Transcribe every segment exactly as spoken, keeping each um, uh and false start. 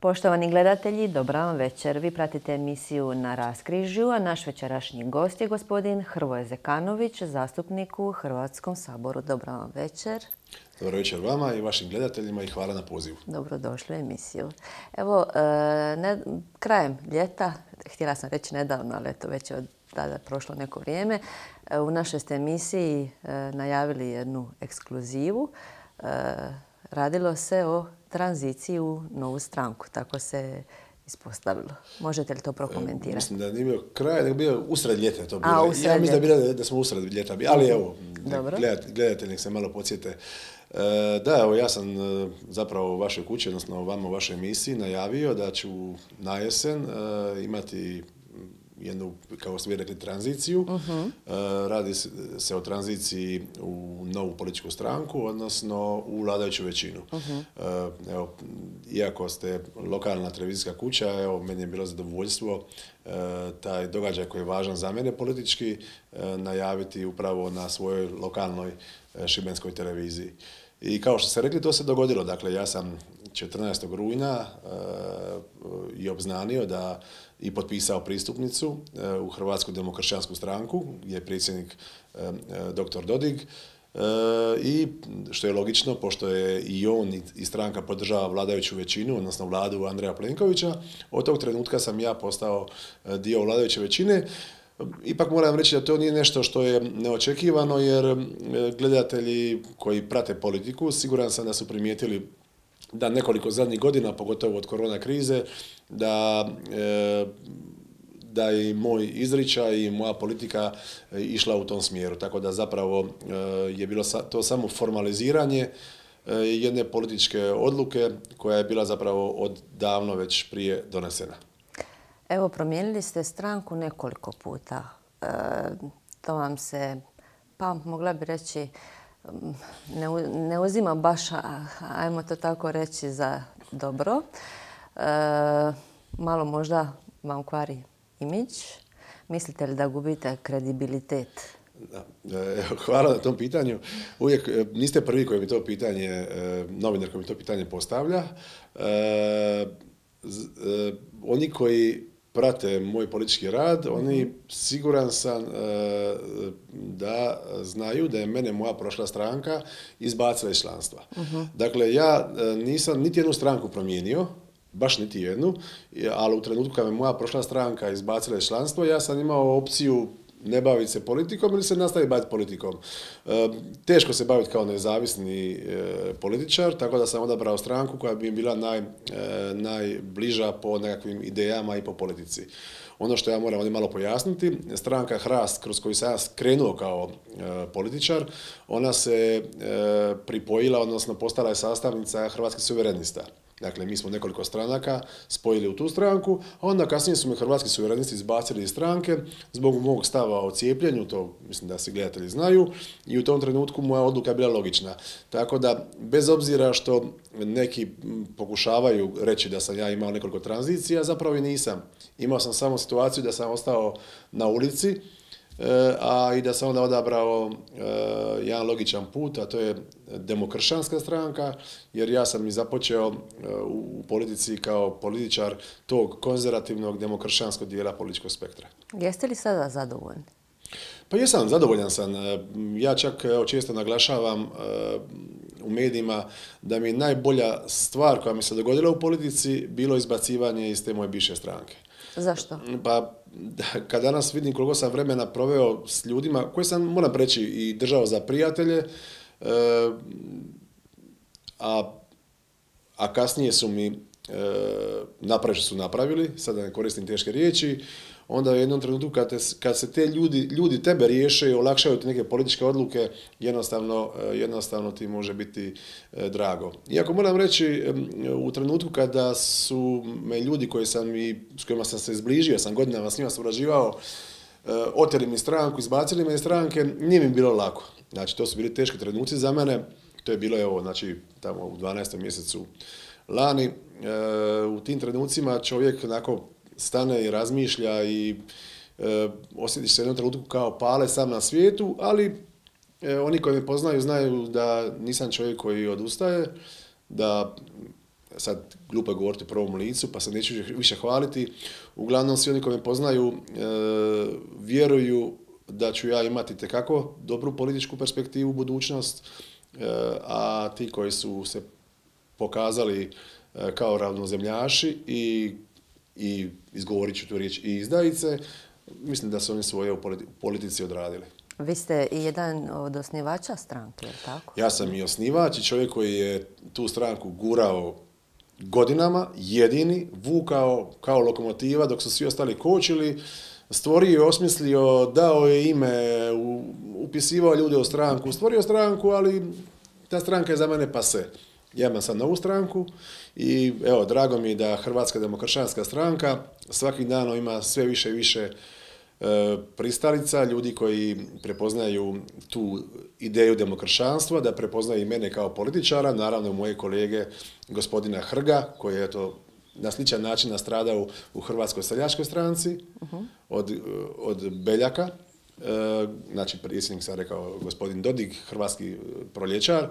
Poštovani gledatelji, dobra vam večer. Vi pratite emisiju Na raskrižju, a naš večerašnji gost je gospodin Hrvoje Zekanović, zastupnik u Hrvatskom saboru. Dobra vam večer. Dobro večer vama i vašim gledateljima i hvala na pozivu. Dobrodošli u emisiju. Evo, ne, krajem ljeta, htjela sam reći nedavno, ali eto već je od tada prošlo neko vrijeme, u našoj ste emisiji najavili jednu ekskluzivu. Radilo se o tranziciji u novu stranku, tako se ispostavilo. Možete li to prokomentirati? E, mislim da nije bio kraj, nego bio usred ljeta to bilo. A, usred ja mislim ljeta. da, bilo, da smo usred ljeta, ali evo, gledatelji, gledatelji nek se malo podsjete. E, da, evo, ja sam e, zapravo u vašoj kući, odnosno vama u vašoj emisiji najavio da ću na jesen e, imati jednu, kao ste vi rekli, tranziciju. Uh-huh. E, radi se o tranziciji u novu političku stranku, odnosno u vladajuću većinu. Uh-huh. E, evo, iako ste lokalna televizijska kuća, evo, meni je bilo zadovoljstvo e, taj događaj koji je važan za mene politički e, najaviti upravo na svojoj lokalnoj e, šibenskoj televiziji. I kao što ste rekli, to se dogodilo. Dakle, ja sam četrnaestog rujna e, i obznanio da i potpisao pristupnicu e, u Hrvatsku demokršćansku stranku, gdje je predsjednik e, doktor Dodig. E, I što je logično, pošto je i on i stranka podržava vladajuću većinu, odnosno vladu Andreja Plenkovića, od tog trenutka sam ja postao dio vladajuće većine. Ipak moram reći da to nije nešto što je neočekivano, jer gledatelji koji prate politiku, siguran sam da su primijetili da nekoliko zadnjih godina, pogotovo od korona krize, da, e, da je moj izričaj i moja politika išla u tom smjeru. Tako da zapravo e, je bilo sa, to samo formaliziranje e, jedne političke odluke koja je bila zapravo odavno već prije donesena. Evo, promijenili ste stranku nekoliko puta. E, to vam se, pa mogla bi reći, ne, ne uzima baš, ajmo to tako reći, za dobro. E, malo možda vam kvari imidž. Mislite li da gubite kredibilitet? Da. Evo, hvala na tom pitanju. Uvijek niste prvi koji mi to pitanje, novinar koji mi to pitanje postavlja. E, z, e, oni koji prate moj politički rad, oni siguran sam e, da znaju da je mene moja prošla stranka izbacila iz članstva. Uh-huh. Dakle, ja nisam niti jednu stranku promijenio, baš niti jednu, ali u trenutku kad me moja prošla stranka izbacila iz članstva, ja sam imao opciju ne baviti se politikom ili se nastaviti baviti politikom. E, teško se baviti kao nezavisni e, političar, tako da sam odabrao stranku koja bi mi bila naj, e, najbliža po nekakvim idejama i po politici. Ono što ja moram ovdje malo pojasniti, stranka Hrast, kroz koju sam ja krenuo kao e, političar, ona se e, pripojila, odnosno postala je sastavnica Hrvatskih suverenista. Dakle, mi smo nekoliko stranaka spojili u tu stranku, a onda kasnije su me Hrvatski suverenisti izbacili iz stranke zbog mog stava o cijepljenju, to mislim da svi gledatelji znaju, i u tom trenutku moja odluka je bila logična. Tako da, bez obzira što neki pokušavaju reći da sam ja imao nekoliko tranzicija, zapravo i nisam. Imao sam samo situaciju da sam ostao na ulici, a i da sam onda odabrao jedan logičan put, a to je demokršćanska stranka, jer ja sam i započeo u politici kao političar tog konzervativnog demokršćanskog dijela političkog spektra. Jeste li sada zadovoljni? Pa jesam, zadovoljan sam. Ja čak evo, često naglašavam u medijima da mi je najbolja stvar koja mi se dogodila u politici bilo izbacivanje iz te moje bivše stranke. Zašto? Pa, kad danas vidim koliko sam vremena proveo s ljudima, koje sam, moram reći, i držao za prijatelje, e, a, a kasnije su mi e, napravili što su napravili, sada ne koristim teške riječi, onda u jednom trenutku kad, te, kad se te ljudi, ljudi tebe riješe i olakšaju ti neke političke odluke, jednostavno, jednostavno ti može biti e, drago. Iako moram reći, e, u trenutku kada su me ljudi koji sam i, s kojima sam se zbližio, sam godinama s njima surađivao, e, oteli mi stranku, izbacili me iz stranke, nije mi bilo lako. Znači, to su bili teški trenuci za mene. To je bilo, evo, znači, tamo u dvanaestom mjesecu lani. E, u tim trenucima čovjek onako stane i razmišlja i e, osjetiš se jednom trenutku kao pale sam na svijetu, ali e, oni koji me poznaju znaju da nisam čovjek koji odustaje, da sad glupo je govoriti u prvom licu, pa se neću više hvaliti. Uglavnom, svi oni koji me poznaju e, vjeruju da ću ja imati tekako dobru političku perspektivu u budućnost, e, a ti koji su se pokazali e, kao ravnozemljaši i, i izgovorit ću tu riječ i izdajice, mislim da su oni svoje u politici odradili. Vi ste i jedan od osnivača stranke, je li tako? Ja sam i osnivač i čovjek koji je tu stranku gurao godinama, jedini, vukao kao lokomotiva dok su svi ostali kočili, stvorio i osmislio, dao je ime, upisivao ljude u stranku, stvorio stranku, ali ta stranka je za mene pase. Ja imam sad novu stranku i evo, drago mi je da Hrvatska demokršćanska stranka svakim danom ima sve više i više pristalica, ljudi koji prepoznaju tu ideju demokršćanstva, da prepoznaju i mene kao političara, naravno moje kolege gospodina Hrga, koji je to na sličan način nastradao u Hrvatskoj seljačkoj stranci, uh-huh. od, od Beljaka, e, znači predsjednik sam rekao gospodin Dodig, hrvatski proljećar,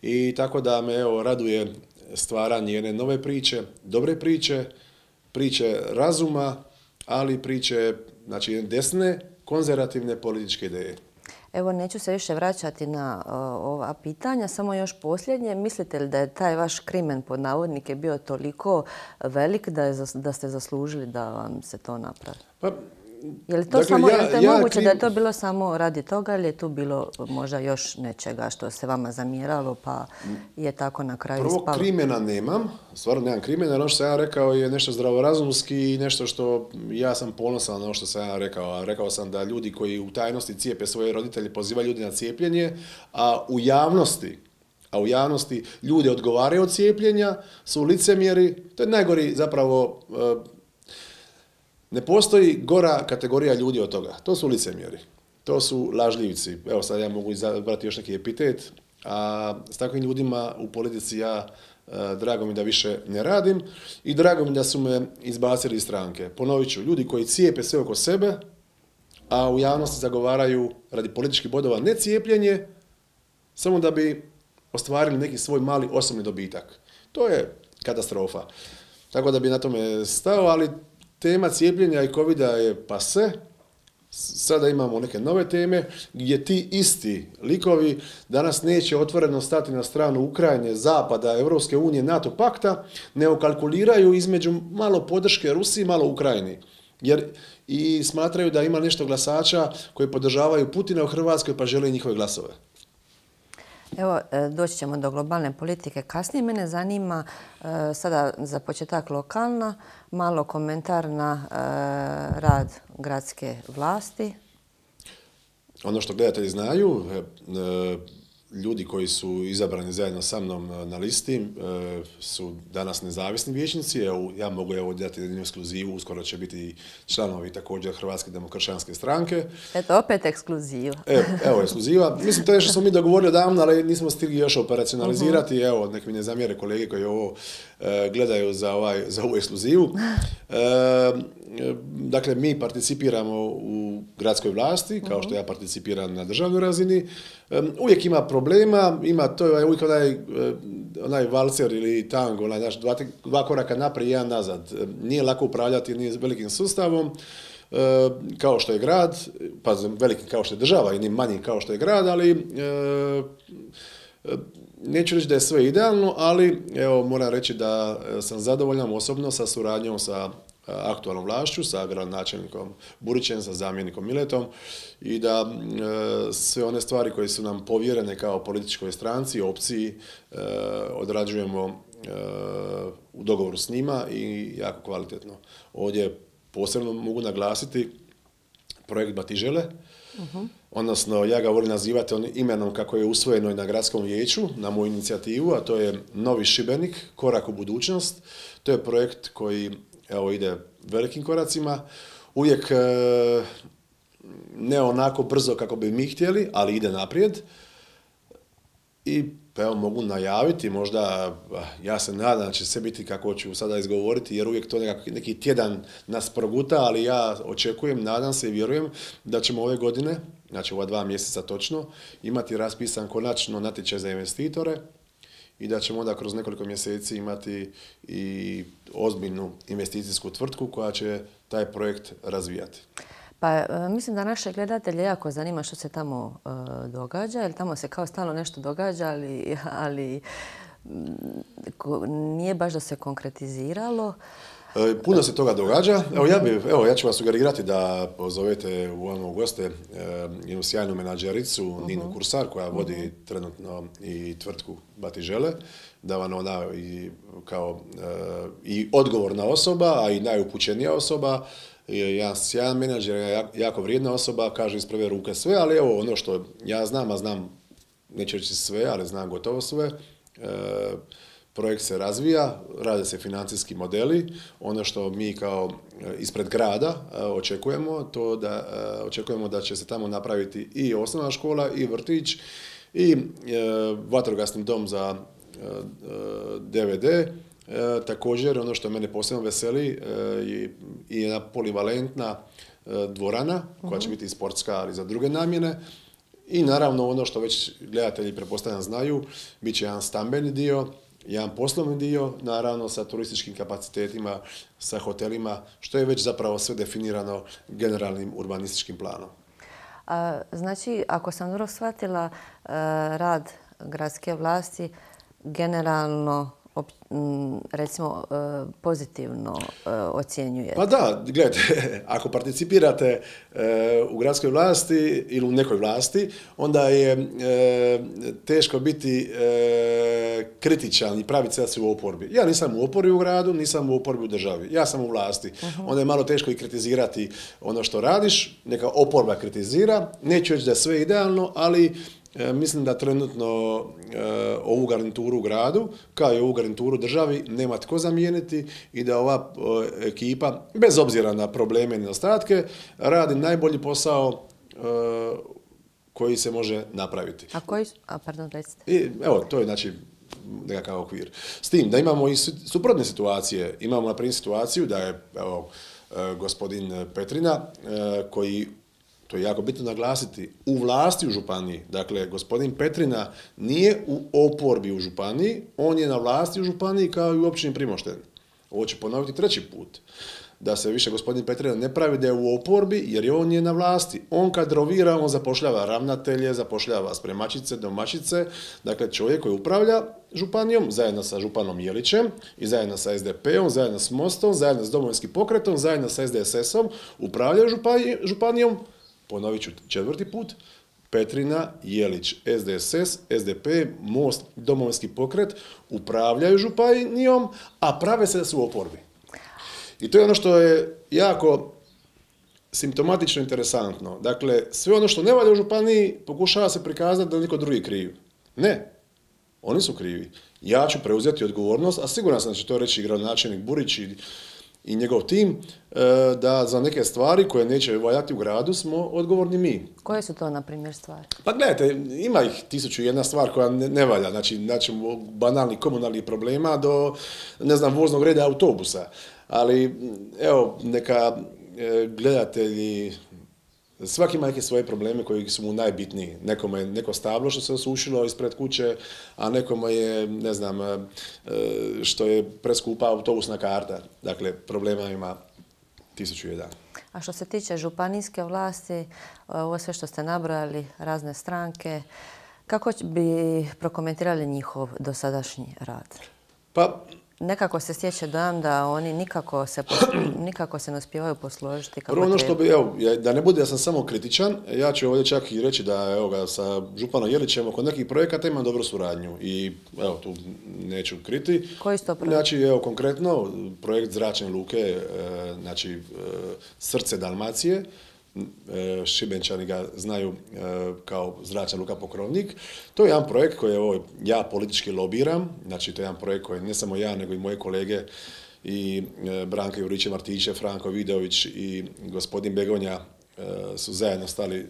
i tako da me evo raduje stvaranje jedne nove priče, dobre priče, priče razuma, ali priče, znači, desne, konzervativne političke ideje. Evo, neću se više vraćati na uh, ova pitanja, samo još posljednje. Mislite li da je taj vaš krimen pod navodnike bio toliko velik da, je, da ste zaslužili da vam se to napravi? Pa, je li to, dakle, samo, ja, je li to ja moguće krim... da je to bilo samo radi toga ili je tu bilo možda još nečega što se vama zamjeralo pa je tako na kraju Prvo, ispalo? Krimena nemam, stvarno nemam krimena, ono što sam ja rekao je nešto zdravorazumski i nešto što ja sam ponosan na ono što sam ja rekao. A rekao sam da ljudi koji u tajnosti cijepe svoje roditelje pozivaju ljudi na cijepljenje, a u javnosti a u javnosti ljude odgovaraju od cijepljenja, su licemjeri, to je najgori zapravo. Ne postoji gora kategorija ljudi od toga. To su licemjeri. To su lažljivci. Evo sad ja mogu izabrati još neki epitet. A s takvim ljudima u politici ja e, drago mi da više ne radim i drago mi da su me izbacili iz stranke. Ponovit ću, ljudi koji cijepe sve oko sebe, a u javnosti zagovaraju radi političkih bodova ne cijepljenje, samo da bi ostvarili neki svoj mali osobni dobitak. To je katastrofa. Tako da bi na tome stao, ali tema cijepljenja i covida je pase. Sada imamo neke nove teme gdje ti isti likovi danas neće otvoreno stati na stranu Ukrajine, Zapada, Europske unije, NATO pakta, nego kalkuliraju između malo podrške Rusiji, malo Ukrajini. Jer i smatraju da ima nešto glasača koji podržavaju Putina u Hrvatskoj pa žele njihove glasove. Evo, doći ćemo do globalne politike kasnije. Mene zanima sada za početak lokalna, malo komentar na rad gradske vlasti. Ono što gledatelji znaju, ljudi koji su izabrani zajedno sa mnom na listi su danas nezavisni vijećnici. Ja mogu evo dati jednu ekskluzivu, uskoro će biti članovi također Hrvatske demokršćanske stranke. Eto, opet ekskluziva. Evo, evo ekskluziva. Mislim, to je što smo mi dogovorili odavno, ali nismo stigli još operacionalizirati. Uh-huh. Evo, nek mi ne zamjere kolege koji ovo e, gledaju za, ovaj, za ovu ekskluzivu. E, dakle, mi participiramo u gradskoj vlasti, kao što ja participiram na državnoj razini. E, uvijek ima problema, ima to je uvijek onaj, onaj valcer ili tango, onaj, naš, dva, dva koraka naprijed i jedan nazad. Nije lako upravljati nije velikim sustavom, e, kao što je grad, pa veliki kao što je država i ni manji kao što je grad, ali e, neću reći da je sve idealno, ali evo, moram reći da sam zadovoljan osobno sa suradnjom sa aktualnom vlašću, sa gradonačelnikom Burićem, sa zamjenikom Miletom i da e, sve one stvari koje su nam povjerene kao političkoj stranci, opciji, e, odrađujemo e, u dogovoru s njima i jako kvalitetno. Ovdje posebno mogu naglasiti projekt Batižele, uh-huh. odnosno ja ga volim nazivati on imenom kako je usvojeno i na gradskom vijeću, na moju inicijativu, a to je Novi Šibenik, korak u budućnost. To je projekt koji evo ide velikim koracima, uvijek e, ne onako brzo kako bi mi htjeli, ali ide naprijed. I evo mogu najaviti, možda ja se nadam da će sve biti kako ću sada izgovoriti, jer uvijek to nekak, neki tjedan nas proguta, ali ja očekujem, nadam se i vjerujem da ćemo ove godine, znači ova dva mjeseca točno, imati raspisan konačno natječaj za investitore i da ćemo onda kroz nekoliko mjeseci imati i ozbiljnu investicijsku tvrtku koja će taj projekt razvijati. Pa mislim da naše gledatelje jako zanima što se tamo uh, događa, jer tamo se kao stalno nešto događa, ali, ali ko, nije baš da se konkretiziralo. E, puno se toga događa. Evo ja, bi, evo, ja ću vas sugerirati da pozovete u ono goste e, jednu sjajnu menadžericu, uh-huh. Ninu Kursar, koja vodi uh-huh. trenutno i tvrtku Batižele, da vam ona i, kao, e, i odgovorna osoba, a i najupućenija osoba, jedan sjajan menadžer, jako vrijedna osoba, kaže iz prve ruke sve, ali evo ono što ja znam, a znam, neću reći sve, ali znam gotovo sve, e, projekt se razvija, rade se financijski modeli, ono što mi kao ispred grada e, očekujemo, to da e, očekujemo da će se tamo napraviti i osnovna škola, i vrtić, i e, vatrogasni dom za e, D V D. E, također, ono što mene posebno veseli e, je i jedna polivalentna e, dvorana, koja će biti i sportska, ali za druge namjene. I naravno, ono što već gledatelji pretpostavljam znaju, bit će jedan stambeni dio, jedan poslovni dio, naravno sa turističkim kapacitetima, sa hotelima, što je već zapravo sve definirano generalnim urbanističkim planom. A, znači, ako sam dobro shvatila, rad gradske vlasti generalno recimo pozitivno ocjenjuje. Pa da, gledajte, ako participirate u gradskoj vlasti ili u nekoj vlasti, onda je teško biti kritičan i praviti se u oporbi. Ja nisam u oporbi u gradu, nisam u oporbi u državi. Ja sam u vlasti. Uh-huh. Onda je malo teško i kritizirati ono što radiš. Neka oporba kritizira. Neću reći da je sve idealno, ali E, mislim da trenutno e, ovu garnituru u gradu, kao i ovu garnituru u državi, nema tko zamijeniti i da ova e, ekipa, bez obzira na probleme i nedostatke, radi najbolji posao e, koji se može napraviti. A koji su? A, pardon, recite. I, evo, to je znači nekakav okvir. S tim da imamo i suprotne situacije. Imamo na primjer situaciju da je evo, e, gospodin Petrina e, koji, to je jako bitno naglasiti, u vlasti u županiji. Dakle, gospodin Petrina nije u oporbi u županiji, on je na vlasti u županiji kao i u općini Primošten. Ovo ću ponoviti treći put. Da se više gospodin Petrina ne pravi da je u oporbi, jer je on je na vlasti. On kadrovira, on zapošljava ravnatelje, zapošljava spremačice, domaćice. Dakle, čovjek koji upravlja županijom, zajedno sa županom Jelićem i zajedno sa S D P-om, zajedno s Mostom, zajedno s Domovinskim pokretom, zajedno sa S D S S-om, upravljaju županijom. Ponovit ću četvrti put, Petrina, Jelić, S D S S, S D P, Most, Domovinski pokret upravljaju županijom, a prave se da su u oporbi. I to je ono što je jako simptomatično interesantno. Dakle, sve ono što ne valja u županiji pokušava se prikazati da niko drugi kriv. Ne, oni su krivi. Ja ću preuzeti odgovornost, a siguran sam da će to reći i gradonačelnik Burić i i njegov tim, da za neke stvari koje neće valjati u gradu smo odgovorni mi. Koje su to, na primjer, stvari? Pa gledajte, ima ih tisuću jedna stvar koja ne, ne valja. Znači, znači, banalnih komunalnih problema do, ne znam, voznog reda autobusa. Ali, evo, neka gledatelji, svaki ima neke svoje probleme koji su mu najbitniji. Nekome je neko stablo što se osušilo ispred kuće, a nekome je, ne znam, što je preskupa autobusna karta. Dakle, problema ima tisuću jedan. A što se tiče županijske vlasti, ovo sve što ste nabrojali, razne stranke, kako bi prokomentirali njihov dosadašnji rad? Pa, nekako se stječe dojam da oni nikako se, nikako se ne uspijevaju posložiti kako prvo ono što bi, evo, da ne bude da sam samo kritičan, ja ću ovdje čak i reći da evo ga, sa županom Jelićem oko nekih projekata imam dobru suradnju i evo tu neću kriti. Koji su to projekti? Znači, evo konkretno, projekt zračne luke, znači srce Dalmacije, Šibenčani ga znaju kao zračna luka Pokrovnik. To je jedan projekt koji evo, ja politički lobiram, znači to je jedan projekt koji ne samo ja, nego i moje kolege i Branka Juriće-Martiće, Franko Vidović i gospodin Begonja su zajedno stali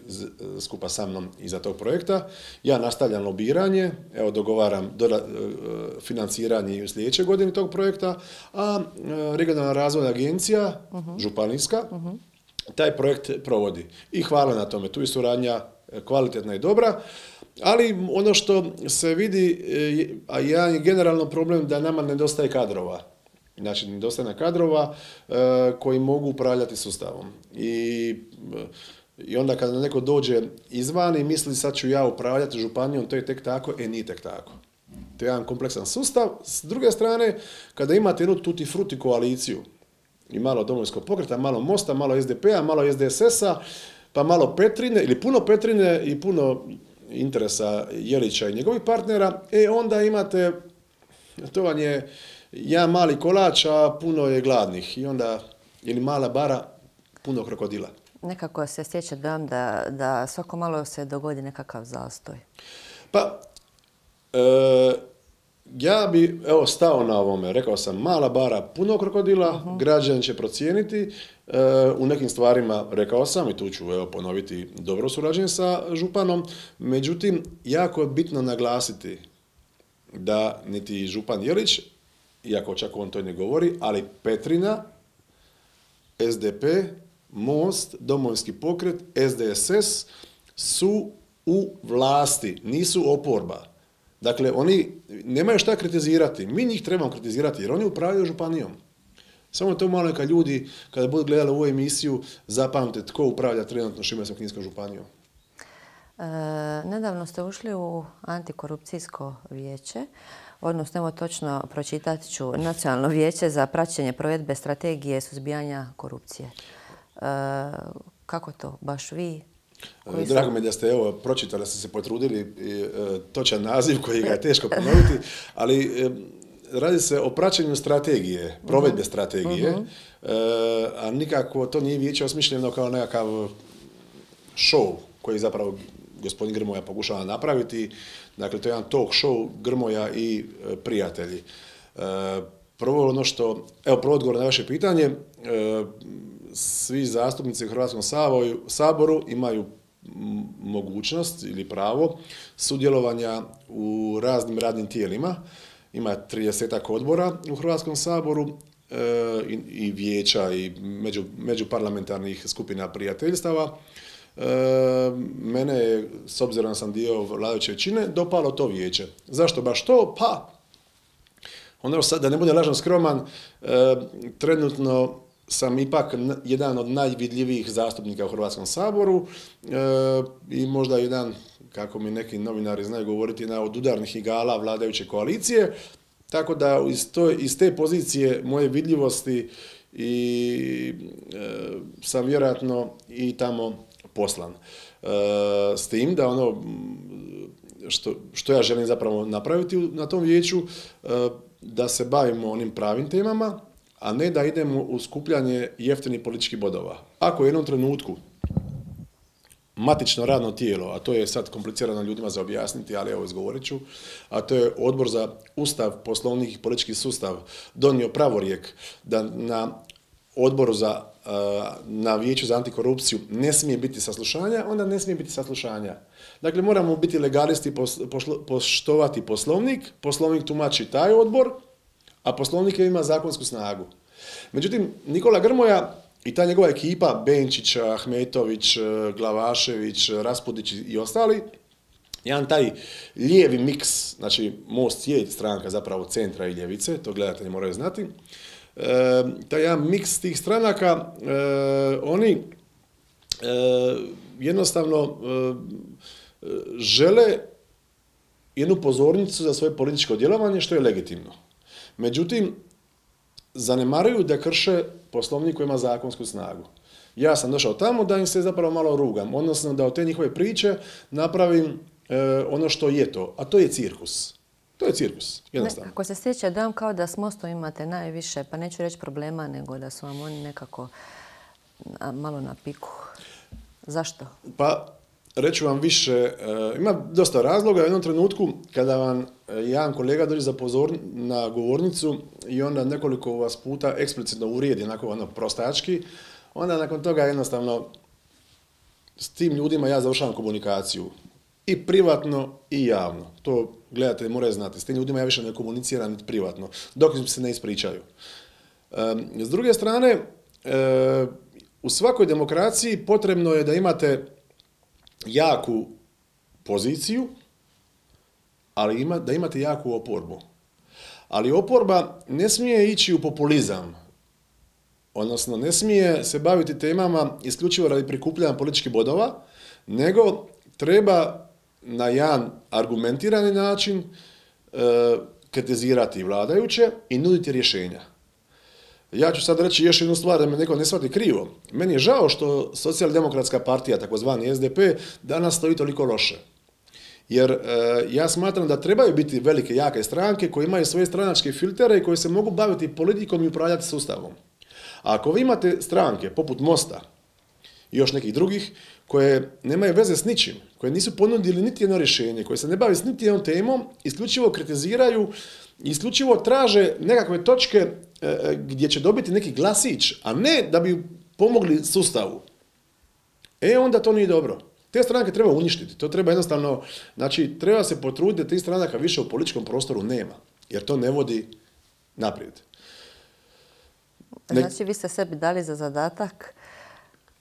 skupa sa mnom iza tog projekta. Ja nastavljam lobiranje, evo dogovaram financiranje u sljedećoj godini tog projekta, a regionalna razvojna agencija, uh-huh. županijska, uh-huh. taj projekt provodi. I hvala na tome. Tu je suradnja kvalitetna i dobra. Ali ono što se vidi, a jedan je generalno problem da nama nedostaje kadrova. Znači, nedostaje kadrova e, koji mogu upravljati sustavom. I, I onda kada neko dođe izvan i misli sad ću ja upravljati županijom, to je tek tako, e nije tek tako. To je jedan kompleksan sustav. S druge strane, kada imate jednu tutti frutti koaliciju, i malo Domovinskog pokreta, malo Mosta, malo S D P-a, malo S D S S-a, pa malo Petrine, ili puno Petrine i puno interesa Jelića i njegovih partnera, e onda imate, to vam je jedan mali kolač, a puno je gladnih. I onda, ili mala bara, puno krokodila. Nekako se stječe dojam da, da svako malo se dogodi nekakav zastoj. Pa, e, ja bi evo stao na ovome, rekao sam mala bara, puno krokodila, uh-huh. Građani će procijeniti, e, u nekim stvarima rekao sam i tu ću evo ponoviti dobro surađenje sa županom, međutim jako je bitno naglasiti da niti župan Jelić, iako čak on to ne govori, ali Petrina, S D P, Most, Domovinski pokret, S D S S su u vlasti, nisu oporba. Dakle, oni nemaju šta kritizirati. Mi njih trebamo kritizirati jer oni upravljaju županijom. Samo to malo neka ljudi, kada budu gledali ovu emisiju, zapamte tko upravlja trenutno Šibensko-kninskom županijom. E, nedavno ste ušli u antikorupcijsko vijeće, odnosno evo točno pročitat ću Nacionalno vijeće za praćenje provedbe strategije suzbijanja korupcije. E, kako to? Baš vi? Koji Drago mi je da ste evo pročitali, da ste se potrudili e, točan naziv koji ga je teško ponoviti, ali e, radi se o praćenju strategije, provedbe uh-huh. strategije, uh-huh. e, a nikako to nije vijeće osmišljeno kao nekakav show koji zapravo gospodin Grmoja pokušava napraviti. Dakle, to je jedan talk show Grmoja i e, prijatelji. E, prvo ono što, evo prvo odgovor na vaše pitanje, e, svi zastupnici u Hrvatskom saboru imaju mogućnost ili pravo sudjelovanja u raznim radnim tijelima. Ima tridesetak odbora u Hrvatskom saboru e, i, i vijeća i među, međuparlamentarnih skupina prijateljstava. E, mene je, s obzirom da sam dio vladajuće većine, dopalo to vijeće. Zašto baš to? Pa, ono sad, da ne bude lažno skroman, e, trenutno sam ipak jedan od najvidljivijih zastupnika u Hrvatskom saboru e, i možda jedan, kako mi neki novinari znaju govoriti, jedna od udarnih igala vladajuće koalicije, tako da iz, to, iz te pozicije moje vidljivosti i e, sam vjerojatno i tamo poslan. E, s tim da ono što, što ja želim zapravo napraviti na tom vijeću, e, da se bavimo onim pravim temama, a ne da idemo u skupljanje jeftinih političkih bodova. Ako u jednom trenutku matično radno tijelo, a to je sad komplicirano ljudima za objasniti, ali evo izgovorit ću, a to je Odbor za Ustav, Poslovnik i politički sustav, donio pravorijek da na odboru za, na vijeću za antikorupciju ne smije biti saslušanja, onda ne smije biti saslušanja. Dakle, moramo biti legalisti, poštovati poslovnik, poslovnik tumači taj odbor, a poslovnik ima zakonsku snagu. Međutim, Nikola Grmoja i ta njegova ekipa, Benčić, Ahmetović, Glavašević, Raspudić i ostali, jedan taj lijevi miks, znači Most je stranka zapravo centra i ljevice, to gledatelji moraju znati, e, taj jedan miks tih stranaka, e, oni e, jednostavno e, žele jednu pozornicu za svoje političko djelovanje, što je legitimno. Međutim, zanemaruju da krše poslovnik koji ima zakonsku snagu. Ja sam došao tamo da im se zapravo malo rugam, odnosno da od te njihove priče napravim e, ono što je to, a to je cirkus. To je cirkus, jednostavno. Ako se stječe dojam kao da s Mostom imate najviše, pa neću reći problema, nego da su vam oni nekako malo na piku. Zašto? Pa, reću vam više, ima dosta razloga. U jednom trenutku kada vam jedan kolega dođe za pozor na govornicu i onda nekoliko vas puta eksplicitno uvrijedi, onako ono prostački, onda nakon toga jednostavno s tim ljudima ja završavam komunikaciju. I privatno i javno. To gledatelji moraju znati. S tim ljudima ja više ne komuniciram niti privatno, dok im se ne ispričaju. S druge strane, u svakoj demokraciji potrebno je da imate jaku poziciju ali ima, da imate jaku oporbu. Ali oporba ne smije ići u populizam, odnosno ne smije se baviti temama isključivo radi prikupljanja političkih bodova, nego treba na jedan argumentirani način e, kritizirati vladajuće i nuditi rješenja. Ja ću sad reći još jednu stvar da me neko ne shvati krivo. Meni je žao što socijaldemokratska partija, takozvani es de pe, danas stoji toliko loše. Jer e, ja smatram da trebaju biti velike, jake stranke koje imaju svoje stranačke filtere i koje se mogu baviti politikom i upravljati sustavom. A ako vi imate stranke poput Mosta i još nekih drugih koje nemaju veze s ničim, koje nisu ponudili niti jedno rješenje, koje se ne bave s niti jednom temom, isključivo kritiziraju, isključivo traže nekakve točke e, gdje će dobiti neki glasić, a ne da bi pomogli sustavu. E onda to nije dobro. Te stranke treba uništiti, to treba jednostavno, znači treba se potruditi da tih stranaka više u političkom prostoru nema, jer to ne vodi naprijed. Ne... Znači vi ste sebi dali za zadatak,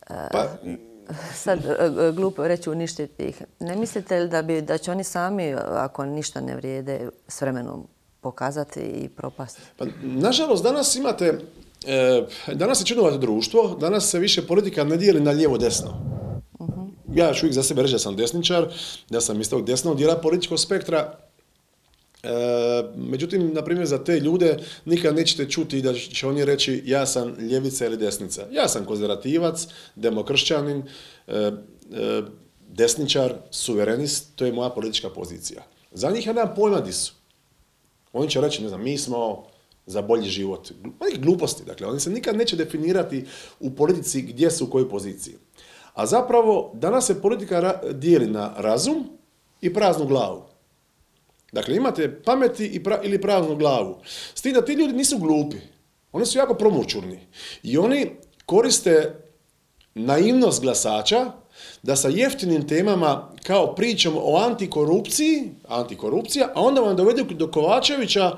pa, sad glupo reći uništiti ih. Ne mislite li da, bi, da će oni sami, ako ništa ne vrijede, s vremenom pokazati i propasti? Pa, nažalost, danas imate, e, danas je čudnovato društvo, danas se više politika ne dijeli na lijevo-desno. Ja ću uvijek za sebe reći da sam desničar, da sam iz tog desnog dijela političkog spektra. E, međutim, na primjer, za te ljude nikad nećete čuti da će oni reći ja sam ljevica ili desnica. Ja sam konzervativac, demokršćanin, e, e, desničar, suverenist, to je moja politička pozicija. Za njih ja nemam pojma di su. Oni će reći, ne znam, mi smo za bolji život. Oni gluposti, dakle, oni se nikad neće definirati u politici gdje su u kojoj poziciji. A zapravo, danas se politika dijeli na razum i praznu glavu. Dakle, imate pameti i pra, ili praznu glavu. S tim da ti ljudi nisu glupi. Oni su jako promućurni. I oni koriste naivnost glasača da sa jeftinim temama kao pričom o antikorupciji, antikorupcija, a onda vam dovedu do Kovačevića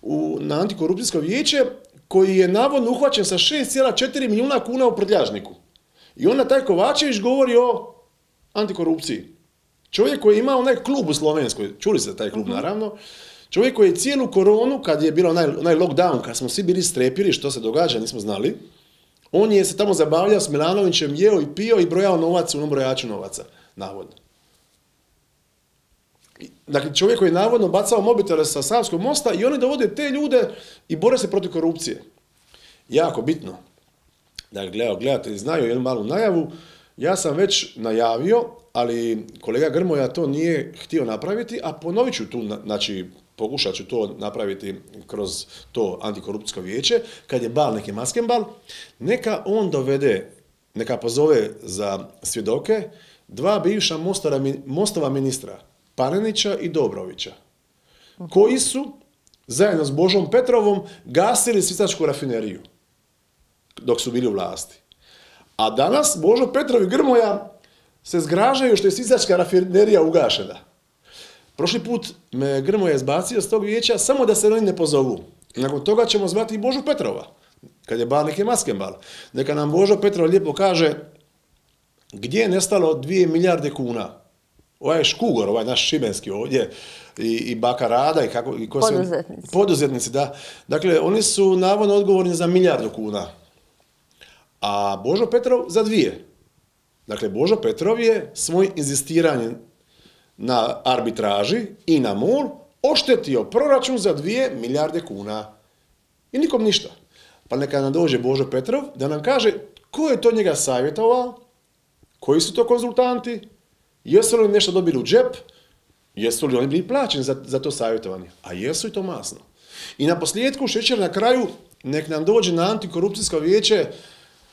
u, na antikorupcijsko vijeće koji je navodno uhvaćen sa šest zarez četiri milijuna kuna u prtljažniku. I onda taj Kovačević govori o antikorupciji. Čovjek koji ima onaj klub u Slovenskoj, čuli ste taj klub naravno, čovjek koji je cijelu koronu, kad je bilo onaj, onaj lockdown, kad smo svi bili strepili što se događa, nismo znali, on je se tamo zabavljao s Milanovićem, jeo i pio i brojao novac u onom brojaču novaca, navodno. Dakle, čovjek koji je navodno bacao mobitele sa Savskog mosta i oni dovode te ljude i bore se protiv korupcije. Jako bitno. Dakle, gledatelji znaju jednu malu najavu, ja sam već najavio, ali kolega Grmoja to nije htio napraviti, a ponovit ću tu, znači pokušat ću to napraviti kroz to antikorupcijsko vijeće, kad je bal neki maskenbal, neka on dovede, neka pozove za svjedoke dva bivša Mostova ministra, Panenića i Dobrovića, koji su zajedno s Božom Petrovom gasili sisačku rafineriju dok su bili u vlasti. A danas Božo Petrov i Grmoja se zgražaju što je sisačka rafinerija ugašena. Prošli put me Grmoja izbacio s tog vijeća samo da se oni ne pozovu. Nakon toga ćemo zvati i Božu Petrova, kad je bal neki maskenbal. Neka nam Božo Petrov lijepo kaže gdje je nestalo dvije milijarde kuna. Ovaj Škugor, ovaj naš šibenski ovdje, i, i baka Rada, i kako... I ko poduzetnici. Se, poduzetnici, da. Dakle, oni su navodno odgovorni za milijardu kuna. A Božo Petrov za dvije. Dakle, Božo Petrov je svoj inzistiranje na arbitraži i na MOL oštetio proračun za dvije milijarde kuna. I nikom ništa. Pa neka nam dođe Božo Petrov da nam kaže ko je to njega savjetovao, koji su to konzultanti, jesu li nešto dobili u džep, jesu li oni bili plaćeni za, za to savjetovanje. A jesu i to masno. I na posljedku, šećer na kraju, nek nam dođe na antikorupcijsko vijeće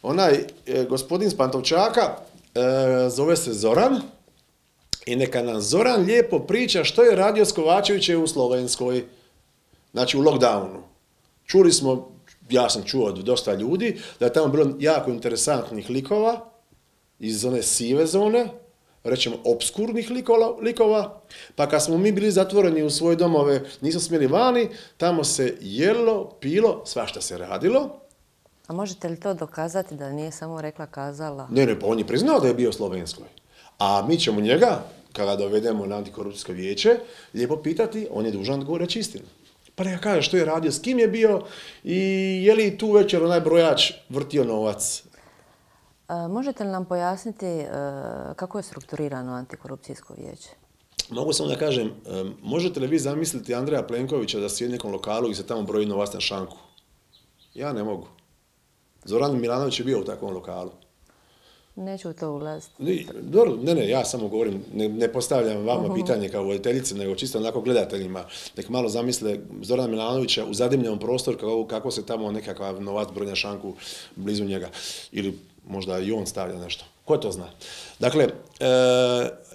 onaj e, gospodin s Pantovčaka, e, zove se Zoran, i neka nam Zoran lijepo priča što je radio s Kovačevićem u Slovenskoj, znači u lockdownu. Čuli smo, ja sam čuo od dosta ljudi, da je tamo bilo jako interesantnih likova iz one sive zone, rećemo obskurnih likova, likova, pa kad smo mi bili zatvoreni u svoje domove, nismo smjeli vani, tamo se jelo, pilo, svašta se radilo. A možete li to dokazati da nije samo rekla kazala? Ne, ne, pa on je priznao da je bio u Slovenskoj. A mi ćemo njega, kada dovedemo na antikorupcijsko vijeće, lijepo pitati, on je dužan da reći istinu. Pa neka kaže što je radio, s kim je bio i je li tu večer onaj brojač vrtio novac. A, možete li nam pojasniti a, kako je strukturirano antikorupcijsko vijeće? Mogu samo da kažem, možete li vi zamisliti Andreja Plenkovića da sjedi u nekom lokalu i se tamo broji novac na šanku? Ja ne mogu. Zoran Milanović je bio u takvom lokalu. Neću u to ulaziti. Dobro, ne, ne, ja samo govorim, ne, ne postavljam vama uh-huh. pitanje kao voditeljice, nego čisto onako gledateljima. Nek malo zamisle Zorana Milanovića u zadimljenom prostoru kako, kako se tamo nekakav novac broji na šanku blizu njega. Ili možda i on stavlja nešto. Ko to zna? Dakle, e,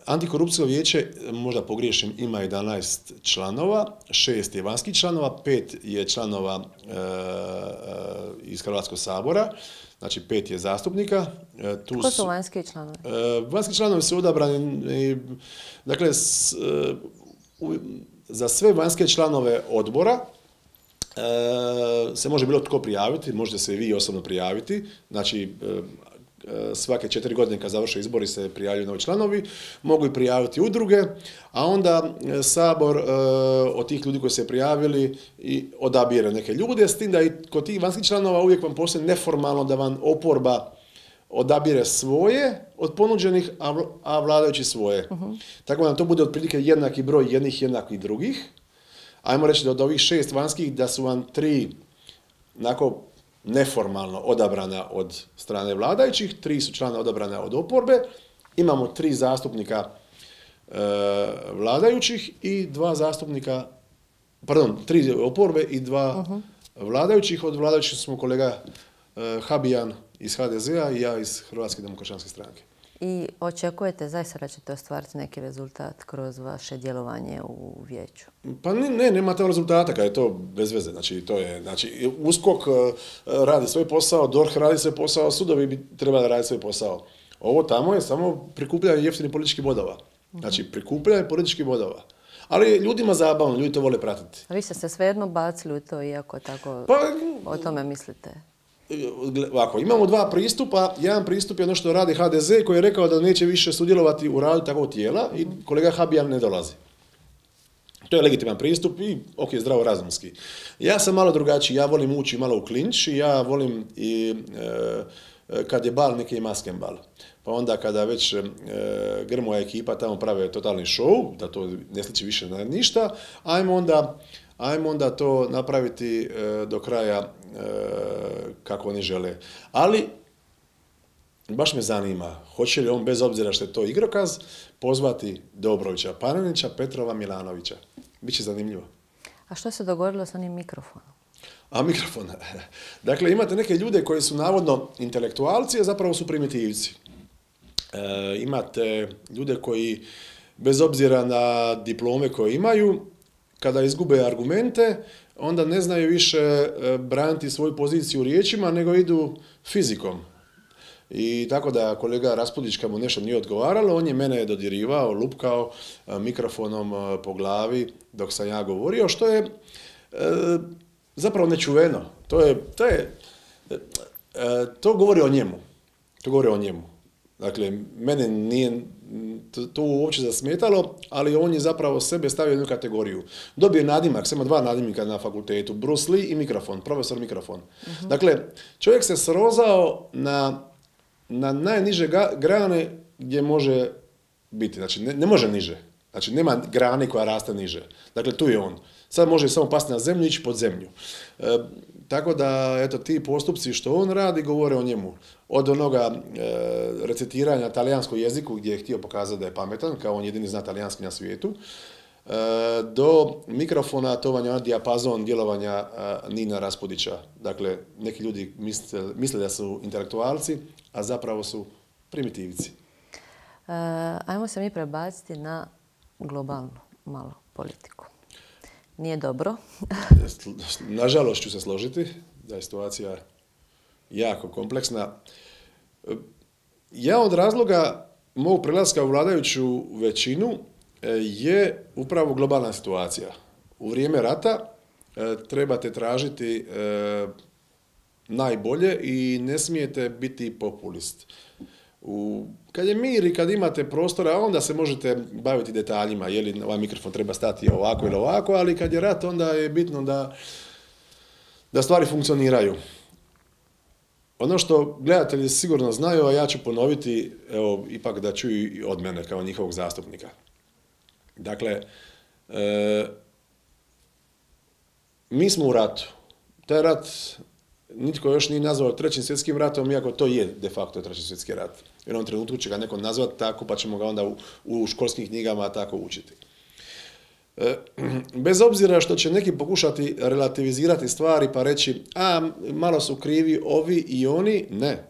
antikorupcijsko vijeće, možda pogriješim, ima jedanaest članova, šest je vanjskih članova, pet je članova e, iz Hrvatskog sabora, znači pet je zastupnika. E, tu Ko su vanjski članovi? E, vanjski članovi su odabrani, dakle, s, e, u, za sve vanjske članove odbora e, se može bilo tko prijaviti, možete se i vi osobno prijaviti, znači e, svake četiri godine kad završe izbori se prijavljuju novi članovi, mogu i prijaviti udruge, a onda Sabor e, od tih ljudi koji se prijavili i odabire neke ljude, s tim da i kod tih vanjskih članova uvijek vam postoji neformalno da vam oporba odabire svoje od ponuđenih, a, a vladajući svoje. Uh-huh. Tako da nam to bude otprilike jednaki broj jednih jednakih drugih. Ajmo reći da od ovih šest vanjskih da su vam tri onako neformalno odabrana od strane vladajućih, tri su člana odabrana od oporbe, imamo tri zastupnika e, vladajućih i dva zastupnika, pardon, tri oporbe i dva uh-huh. vladajućih. Od vladajućih smo kolega e, Habijan iz ha de zea i ja iz Hrvatske demokršćanske stranke. I očekujete zaista da ćete ostvariti neki rezultat kroz vaše djelovanje u vijeću? Pa ne, ne, nema tamo rezultata kad je to bez veze. Znači, to je, znači, USKOK radi svoj posao, D O R H radi svoj posao, sudovi bi trebali raditi svoj posao. Ovo tamo je samo prikupljanje jeftinih političkih bodova. Znači, prikupljanje političkih bodova. Ali ljudima zabavno, ljudi to vole pratiti. A vi ste se svejedno bacili u to, iako tako pa, o tome mislite? Ovako, imamo dva pristupa. Jedan pristup je ono što radi ha de ze koji je rekao da neće više sudjelovati u radu takvog tijela i kolega Habijan ne dolazi. To je legitiman pristup i ok, zdravo razumski. Ja sam malo drugačiji, ja volim ući malo u klinč i ja volim i e, kad je bal, neki je masken bal. Pa onda kada već e, Grmoja ekipa tamo prave totalni show, da to ne sliči više na ništa, ajmo onda, ajmo onda to napraviti e, do kraja e, kako oni žele. Ali, baš me zanima, hoće li on, bez obzira što je to igrokaz, pozvati Dobrovića Panenića, Petrova, Milanovića. Biće zanimljivo. A što se dogodilo s onim mikrofonom? A mikrofon. Dakle, imate neke ljude koji su navodno intelektualci, a zapravo su primitivci. E, imate ljude koji, bez obzira na diplome koje imaju, kada izgube argumente, onda ne znaju više braniti svoju poziciju riječima, nego idu fizikom. I tako da kolega Raspudić, kad mu nešto nije odgovaralo, on je mene dodirivao, lupkao mikrofonom po glavi dok sam ja govorio, što je e, zapravo nečuveno. To je, to je, e, to govori o njemu. To govori o njemu. Dakle, mene nije to, to uopće zasmetalo, ali on je zapravo sebe stavio u jednu kategoriju. Dobio je nadimak, samo dva nadimnika na fakultetu, Bruce Lee i mikrofon, profesor mikrofon. Uh-huh. Dakle, čovjek se srozao na, na najniže ga, grane gdje može biti. Znači, ne, ne može niže. Znači, nema grane koja raste niže. Dakle, tu je on. Sad može samo pasti na zemlju i ići pod zemlju. E, tako da, eto, ti postupci što on radi govore o njemu. Od onoga e, recitiranja talijanskog jeziku gdje je htio pokazati da je pametan, kao on jedini zna talijanski na svijetu, e, do mikrofona, to vam je dijapazon djelovanja e, Nina Raspudića. Dakle, neki ljudi misle, misle da su intelektualci, a zapravo su primitivci. E, ajmo se mi prebaciti na globalnu malo politiku. Nije dobro. Nažalost ću se složiti da je situacija jako kompleksna. Jedan od razloga mog prelaska u vladajuću većinu je upravo globalna situacija. U vrijeme rata trebate tražiti najbolje i ne smijete biti populist. U, kad je mir i kad imate prostora, onda se možete baviti detaljima, je li ovaj mikrofon treba stati ovako ili ovako, ali kad je rat, onda je bitno da, da stvari funkcioniraju. Ono što gledatelji sigurno znaju, a ja ću ponoviti, evo, ipak da čuju i od mene kao njihovog zastupnika. Dakle, e, mi smo u ratu. Taj rat nitko još nije nazvao trećim svjetskim ratom, iako to je de facto treći svjetski rat. U jednom trenutku će ga neko nazvati tako, pa ćemo ga onda u, u školskim knjigama tako učiti. E, bez obzira što će neki pokušati relativizirati stvari pa reći, a malo su krivi ovi i oni, ne.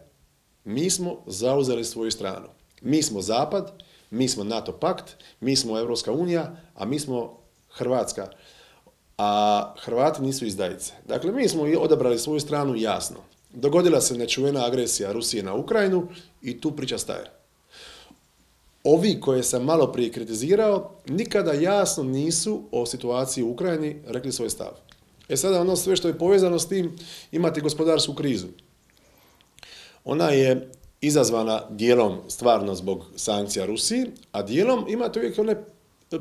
Mi smo zauzeli svoju stranu. Mi smo Zapad, mi smo NATO pakt, mi smo Europska unija, a mi smo Hrvatska. A Hrvati nisu izdajice. Dakle, mi smo odabrali svoju stranu jasno. Dogodila se nečuvena agresija Rusije na Ukrajinu i tu priča staje. Ovi koje sam malo prije kritizirao, nikada jasno nisu o situaciji u Ukrajini rekli svoj stav. E sada ono sve što je povezano s tim, imate gospodarsku krizu. Ona je izazvana dijelom stvarno zbog sankcija Rusiji, a dijelom imate uvijek one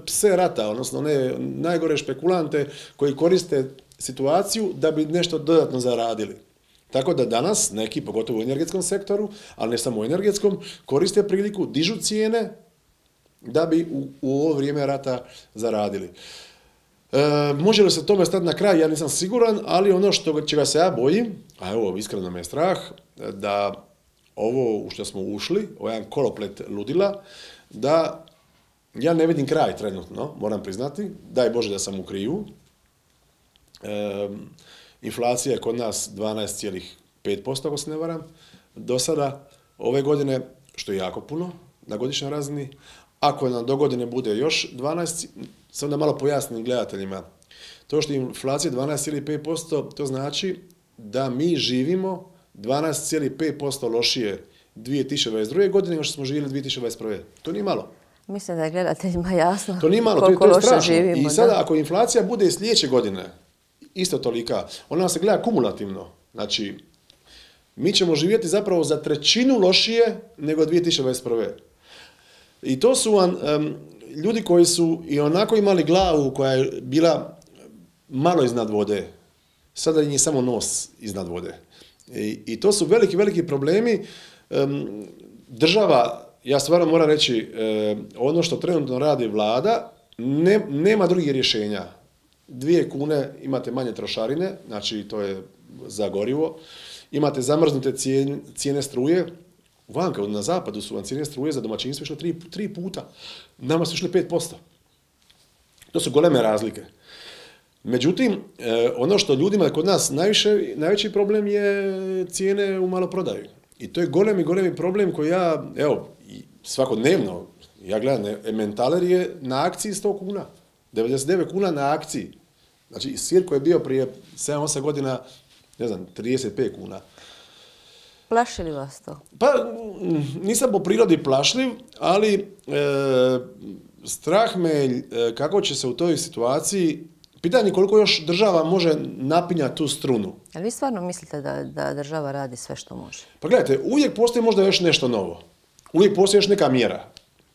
pse rata, odnosno one najgore špekulante koji koriste situaciju da bi nešto dodatno zaradili. Tako da danas neki, pogotovo u energetskom sektoru, ali ne samo u energetskom, koriste priliku, dižu cijene da bi u, u ovo vrijeme rata zaradili. E, može li se tome stati na kraj? Ja nisam siguran, ali ono što, čega se ja bojim, a evo iskreno me je strah, da ovo u što smo ušli, ovaj koloplet ludila, da ja ne vidim kraj trenutno, moram priznati, daj Bože da sam u krivu. E, inflacija je kod nas dvanaest zarez pet posto, ako se ne varam, do sada ove godine, što je jako puno na godišnjoj razini. Ako nam do godine bude još dvanaest, sam da malo pojasnim gledateljima. To što je inflacija dvanaest zarez pet posto, to znači da mi živimo dvanaest zarez pet posto lošije dvije tisuće dvadeset druge godine nego što smo živjeli dvije tisuće dvadeset prve. To nije malo. Mislim da je gledateljima jasno to nije malo, koliko to je, to je loše strašno. živimo. I sada da. ako inflacija bude i sljedeće godine isto tolika, ona se gleda kumulativno. Znači, mi ćemo živjeti zapravo za trećinu lošije nego dvije tisuće dvadeset prve. I to su vam um, ljudi koji su i onako imali glavu koja je bila malo iznad vode. Sada im je samo nos iznad vode. I, i to su veliki, veliki problemi. Um, država, ja stvarno moram reći, um, ono što trenutno radi vlada, ne, nema drugih rješenja. Dvije kune imate manje trošarine, znači to je za gorivo. Imate zamrznute cijene, cijene struje. Vanka, na zapadu su vam cijene struje za domaćinstvo išle tri, tri puta. Nama su išle pet posto. To su goleme razlike. Međutim, ono što ljudima kod nas najviše, najveći problem je cijene u maloprodaju. I to je golemi, golemi problem koji ja, evo, svakodnevno, ja gledam, Emmentaler je na akciji sto kuna. devedeset devet kuna na akciji. Znači, sir koji je bio prije sedam osam godina, ne znam, trideset pet kuna. Plaši li vas to? Pa, nisam po prirodi plašljiv, ali e, strah me e, kako će se u toj situaciji, pitanje koliko još država može napinjati tu strunu. Ali vi stvarno mislite da, da država radi sve što može? Pa gledajte, uvijek postoji možda još nešto novo. Uvijek postoji još neka mjera.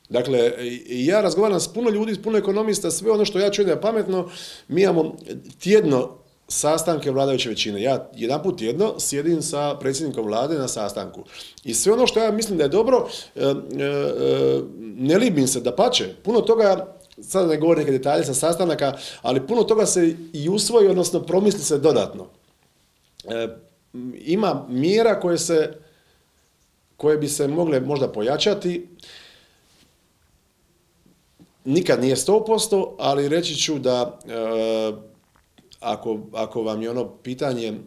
Dakle, ja razgovaram s puno ljudi, s puno ekonomista, sve ono što ja čujem da je pametno, mi imamo tjedno sastanke vladajuće većine. Ja jedan put tjedno sjedim sa predsjednikom vlade na sastanku. I sve ono što ja mislim da je dobro, e, e, ne libim se, dapače. Puno toga, sad ne govorim neke detalje sa sastanaka, ali puno toga se i usvoji, odnosno promisli se dodatno. E, ima mjera koje se, koje bi se mogle možda pojačati. Nikad nije sto posto, ali reći ću da e, ako, ako vam je ono pitanje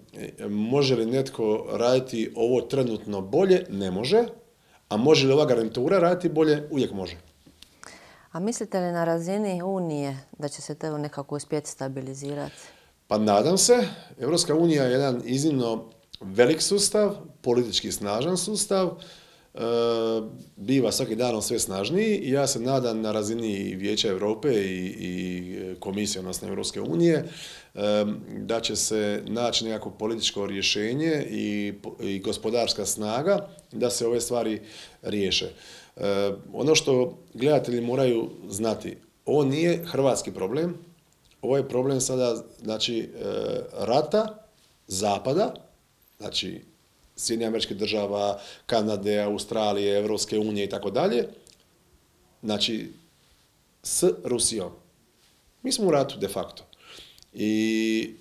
može li netko raditi ovo trenutno bolje, ne može, a može li ova garnitura raditi bolje, uvijek može. A mislite li na razini Unije da će se to nekako uspjeti stabilizirati? Pa nadam se. Europska unija je jedan iznimno velik sustav, politički snažan sustav. biva svaki danom sve snažniji i ja se nadam na razini Vijeća Europe i, i Komisije, odnosno Europske unije, da će se naći nekako političko rješenje i, i gospodarska snaga da se ove stvari riješe. Ono što gledatelji moraju znati, ovo nije hrvatski problem, ovo je problem sada, znači, rata Zapada, znači Sjedinjenih Američkih Država, Kanade, Australije, Europske unije i tako dalje, znači s Rusijom. Mi smo u ratu de facto. I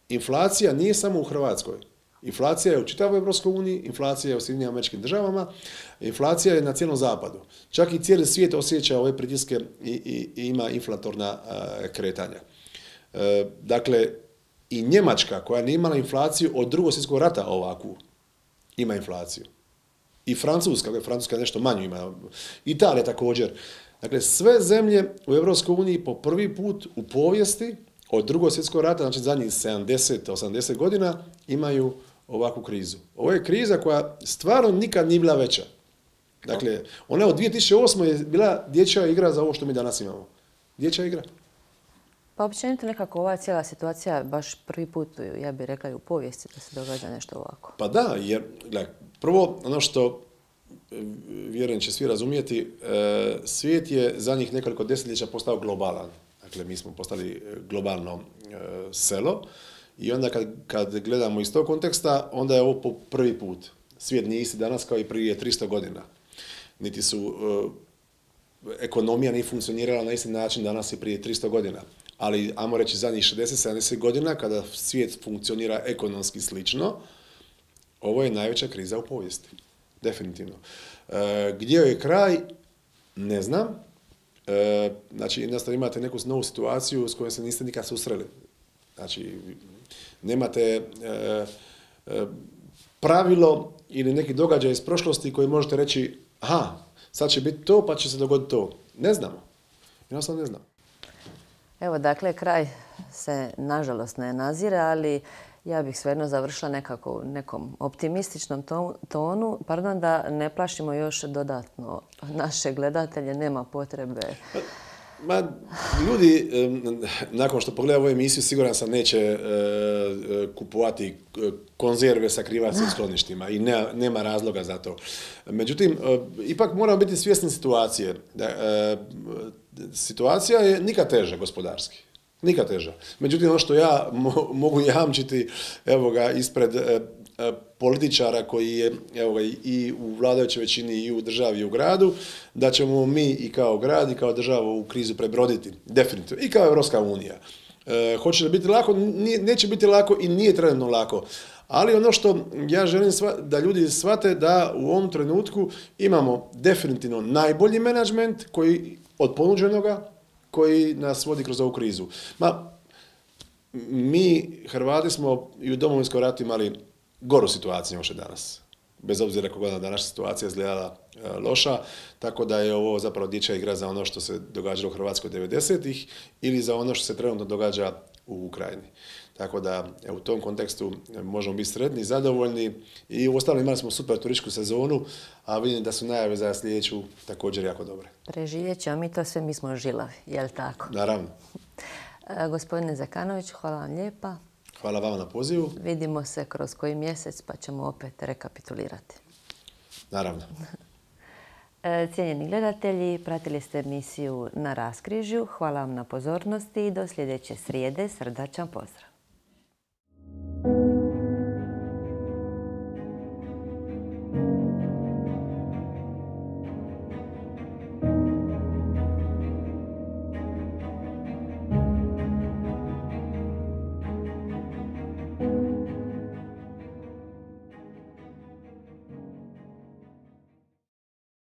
inflacija nije samo u Hrvatskoj. Inflacija je u čitavoj Europskoj uniji, inflacija je u Sjedinjenim Američkim Državama, inflacija je na cijelom zapadu. Čak i cijeli svijet osjeća ove pritiske i, i, i ima inflatorna uh, kretanja. Uh, dakle, i Njemačka, koja nije imala inflaciju od Drugog svjetskog rata ovakvu, ima inflaciju. I Francuska, koja je Francuska nešto manju ima. Italija također. Dakle, sve zemlje u Europskoj uniji po prvi put u povijesti od Drugog svjetskog rata, znači zadnjih sedamdeset osamdeset godina, imaju ovakvu krizu. Ovo je kriza koja stvarno nikad nije bila veća. Dakle, ona od dvije tisuće osme je bila dječja igra za ovo što mi danas imamo. Dječja igra. Pa općenito nekako ova cijela situacija baš prvi put, ja bih rekla, i u povijesti da se događa nešto ovako. Pa da, jer gledaj, prvo ono što vjerujem će svi razumijeti, svijet je zadnjih nekoliko desetljeća postao globalan. Dakle, mi smo postali globalno selo i onda kad, kad gledamo iz tog konteksta, onda je ovo po prvi put. Svijet nije isti danas kao i prije tristo godina. Niti su, ekonomija nije funkcionirala na isti način danas i prije tristo godina. Ali, ajmo reći, zadnjih šezdeset sedamdeset godina, kada svijet funkcionira ekonomski slično, ovo je najveća kriza u povijesti. Definitivno. E, gdje je kraj? Ne znam. E, znači, jednostavno imate neku novu situaciju s kojom se niste nikad susreli. Znači, nemate e, e, pravilo ili neki događaj iz prošlosti koji možete reći, aha, sad će biti to, pa će se dogoditi to. Ne znamo. Jednostavno ne znam. Evo, dakle, kraj se nažalost ne nazire, ali ja bih svejedno završila nekako u nekom optimističnom tonu, pardon, da ne plašimo još dodatno naše gledatelje, nema potrebe. Ma, ljudi, nakon što pogledaju ovu emisiju, siguran sam neće kupovati konzerve sa krivarskim skloništima i ne, nema razloga za to. Međutim, ipak moramo biti svjesni situacije. Situacija je nikad teža gospodarski. Nikad teža. Međutim, ono što ja mo mogu jamčiti, evo ga, ispred e, e, političara koji je, evo ga, i u vladajućoj većini i u državi i u gradu, da ćemo mi i kao grad i kao država u krizu prebroditi. Definitivno. I kao Europska unija. E, hoće li biti lako? Nije, neće biti lako i nije trenutno lako. Ali ono što ja želim sva, da ljudi shvate da u ovom trenutku imamo definitivno najbolji menadžment koji od ponuđenoga koji nas vodi kroz ovu krizu. Ma, mi Hrvati smo i u Domovinskom ratu imali goru situaciju nego što je danas. Bez obzira kako je današnja situacija izgledala e, loša, tako da je ovo zapravo dječja igra za ono što se događalo u Hrvatskoj devedesetih ili za ono što se trenutno događa u Ukrajini. Tako da evo, u tom kontekstu možemo biti sretni, zadovoljni i u ostalom imali smo super turističku sezonu, a vidim da su najave za sljedeću također jako dobre. Preživjet ćemo mi to sve, mi smo žilavi, je li tako? Naravno. E, gospodine Zekanović, hvala vam lijepa. Hvala vama na pozivu. Vidimo se kroz koji mjesec pa ćemo opet rekapitulirati. Naravno. E, cijenjeni gledatelji, pratili ste emisiju Na raskrižju. Hvala vam na pozornosti i do sljedeće srijede. Srdačan pozdrav.